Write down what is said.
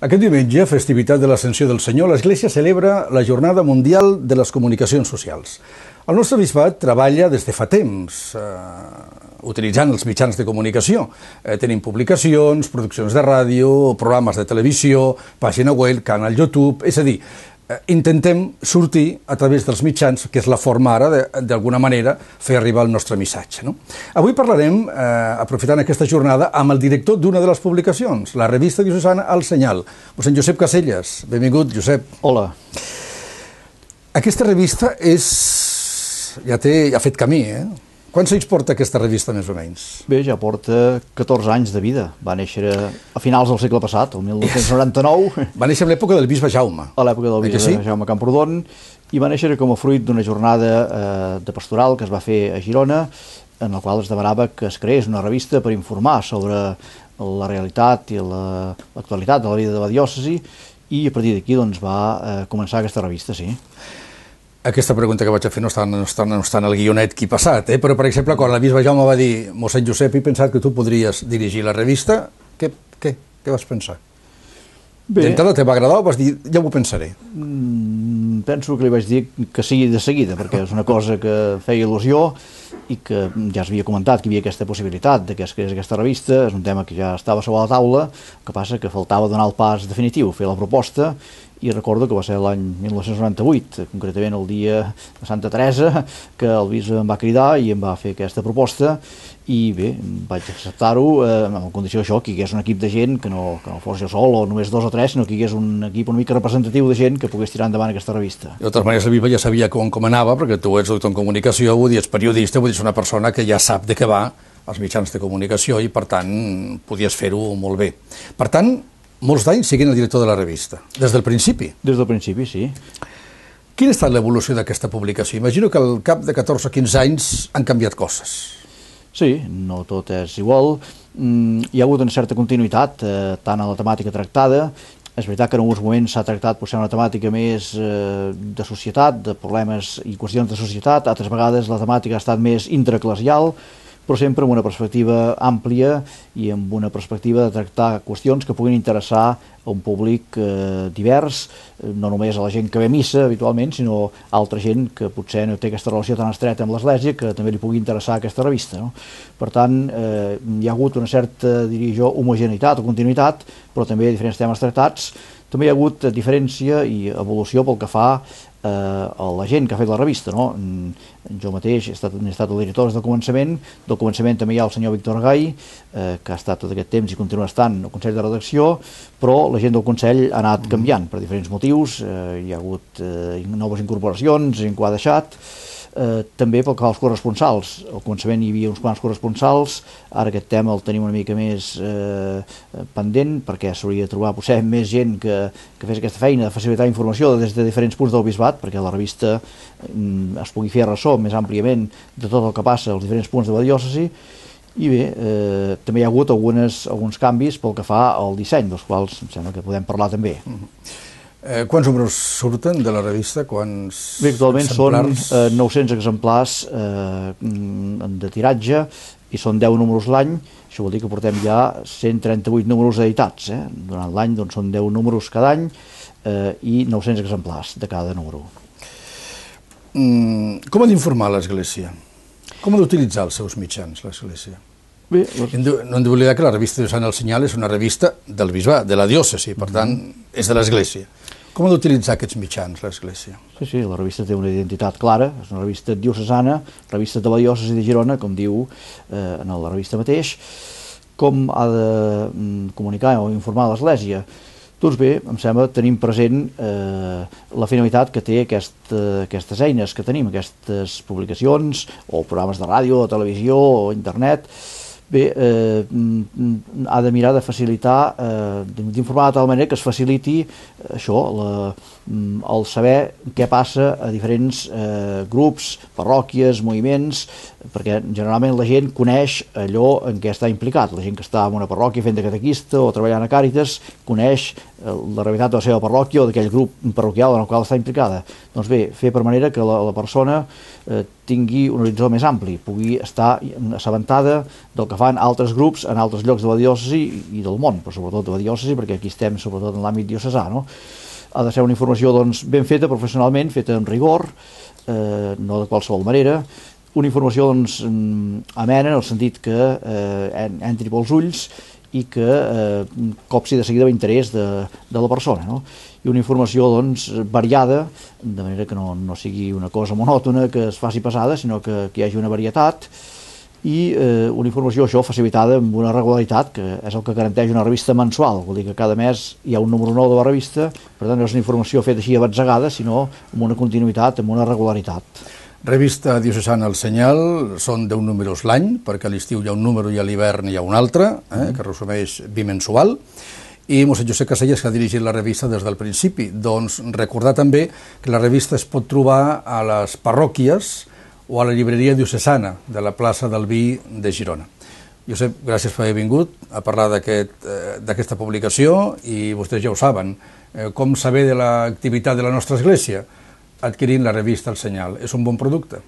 Aquest diumenge, festivitat de l'Ascensió del Senyor, l'Església celebra la Jornada Mundial de les Comunicacions Socials. El nostre bisbat treballa des de fa temps, utilitzant els mitjans de comunicació. Tenim publicacions, produccions de ràdio, programes de televisió, pàgina web, canal YouTube, és a dir, intentem sortir a través dels mitjans, que és la forma ara, d'alguna manera, fer arribar el nostre missatge. Avui parlarem, aprofitant aquesta jornada, amb el director d'una de les publicacions, la revista diocesana El Senyal, mossèn Josep Caselles. Benvingut, Josep. Hola. Aquesta revista ja ha fet camí, Quants anys porta aquesta revista, més o menys? Bé, ja porta 14 anys de vida. Va néixer a finals del segle passat, el 1999. Va néixer a l'època del bisbe Jaume. A l'època del bisbe Jaume Camprodon, i va néixer com a fruit d'una jornada de pastoral que es va fer a Girona, en la qual es demanava que es creés una revista per informar sobre la realitat i l'actualitat de la vida de la diòcesi, i a partir d'aquí va començar aquesta revista, sí. Aquesta pregunta que vaig a fer no està en el guionet que he passat, però, per exemple, quan el bisbe Jaume va dir mossèn Josep, he pensat que tu podries dirigir la revista, què vas pensar? D'entrada te va agradar o vas dir, ja ho pensaré? Penso que li vaig dir que sigui de seguida, perquè és una cosa que feia il·lusió i que ja s'havia comentat que hi havia aquesta possibilitat de que es creés aquesta revista. És un tema que ja estava sobre la taula, el que passa que faltava donar el pas definitiu, fer la proposta, i recordo que va ser l'any 1998, concretament el dia de Santa Teresa, que el bisbe em va cridar i em va fer aquesta proposta, i bé, vaig acceptar-ho amb la condició d'això, que hi hagués un equip de gent, que no fos jo sol o només 2 o 3, sinó que hi hagués un equip una mica representatiu de gent que pogués tirar endavant aquesta revista. De totes maneres, el bisbe ja sabia com anava, perquè tu ets doctor en comunicació, vull dir, ets periodista, vull dir, és una persona que ja sap de què va als mitjans de comunicació i, per tant, podies fer-ho molt bé. Per tant, molts d'anys siguent el director de la revista, des del principi. Des del principi, sí. Quina ha estat l'evolució d'aquesta publicació? Imagino que al cap de 14 o 15 anys han canviat coses. Sí, no tot és igual. Hi ha hagut una certa continuïtat, tant a la temàtica tractada. És veritat que en alguns moments s'ha tractat potser una temàtica més de societat, de problemes i qüestions de societat, altres vegades la temàtica ha estat més intraeclesial, però sempre amb una perspectiva àmplia i amb una perspectiva de tractar qüestions que puguin interessar a un públic divers, no només a la gent que ve a missa habitualment, sinó a altra gent que potser no té aquesta relació tan estreta amb l'Església, que també li pugui interessar aquesta revista. Per tant, hi ha hagut una certa, diria jo, homogeneïtat o continuïtat, però també diferents temes tractats. També hi ha hagut diferència i evolució pel que fa a la gent que ha fet la revista. Jo mateix he estat el director des del començament. Del començament també hi ha el senyor Víctor Gai, que ha estat tot aquest temps i continua estant al Consell de Redacció, però la gent del Consell ha anat canviant per diferents motius. Hi ha hagut noves incorporacions, gent que ho ha deixat. També pel que fa als corresponsals. Al començament hi havia uns quants corresponsals, ara aquest tema el tenim una mica més pendent, perquè s'hauria de trobar potser més gent que fes aquesta feina de facilitar informació des de diferents punts del bisbat, perquè la revista es pugui fer ressò més àmpliament de tot el que passa als diferents punts de la diòcesi. I bé, també hi ha hagut alguns canvis pel que fa al disseny, dels quals em sembla que podem parlar també. Quants números surten de la revista? Bé, actualment són 900 exemplars de tiratge i són 10 números l'any. Això vol dir que portem ja 138 números editats. Durant l'any són 10 números cada any i 900 exemplars de cada número. Com ha d'informar l'Església? Com ha d'utilitzar els seus mitjans, l'Església? No hem d'oblidar que la revista diocesana El Senyal és una revista del bisbat, de la diòcesi, per tant, és de l'Església. Com ha d'utilitzar aquests mitjans, l'Església? Sí, la revista té una identitat clara, és una revista diocesana, revista de la diòcesi de Girona, com diu en la revista mateix. Com ha de comunicar o informar l'Església? Doncs bé, em sembla que tenim present la finalitat que té aquestes eines que tenim, aquestes publicacions, o programes de ràdio, o televisió, o internet. Bé, ha de mirar de facilitar, d'informar de tal manera que es faciliti això, el saber què passa a diferents grups, parròquies, moviments, perquè generalment la gent coneix allò en què està implicat. La gent que està en una parròquia fent de catequista o treballant a Càritas coneix la realitat de la seva parròquia o d'aquell grup parroquial en el qual està implicada. Doncs bé, fer per manera que la persona tingui un horitzó més ampli, pugui estar assabentada del que fan altres grups en altres llocs de la diòcesi i del món, però sobretot de la diòcesi, perquè aquí estem sobretot en l'àmbit diocesà, no? Ha de ser una informació doncs, ben feta professionalment, feta amb rigor, no de qualsevol manera, una informació doncs, amena en el sentit que entri pels ulls i que copsi de seguida l'interès de la persona, no? I una informació doncs, variada, de manera que no sigui una cosa monòtona que es faci pesada, sinó que hi hagi una varietat i una informació això facilitada amb una regularitat, que és el que garanteix una revista mensual. Vol dir que cada mes hi ha un número nou de la revista, per tant no és una informació feta així abatzegada, sinó amb una continuïtat, amb una regularitat. Revista diocesana El Senyal, són 10 números l'any, perquè a l'estiu hi ha un número i a l'hivern hi ha un altre, que resumeix bimensual, i Mossèn Josep Casellas, que ha dirigit la revista des del principi. Doncs recordar també que la revista es pot trobar a les parròquies o a la llibreria diocesana de la plaça del Vi de Girona. Josep, gràcies per haver vingut a parlar d'aquesta publicació, i vostès ja ho saben, com saber de l'activitat de la nostra església? Adquirint la revista El Senyal. És un bon producte.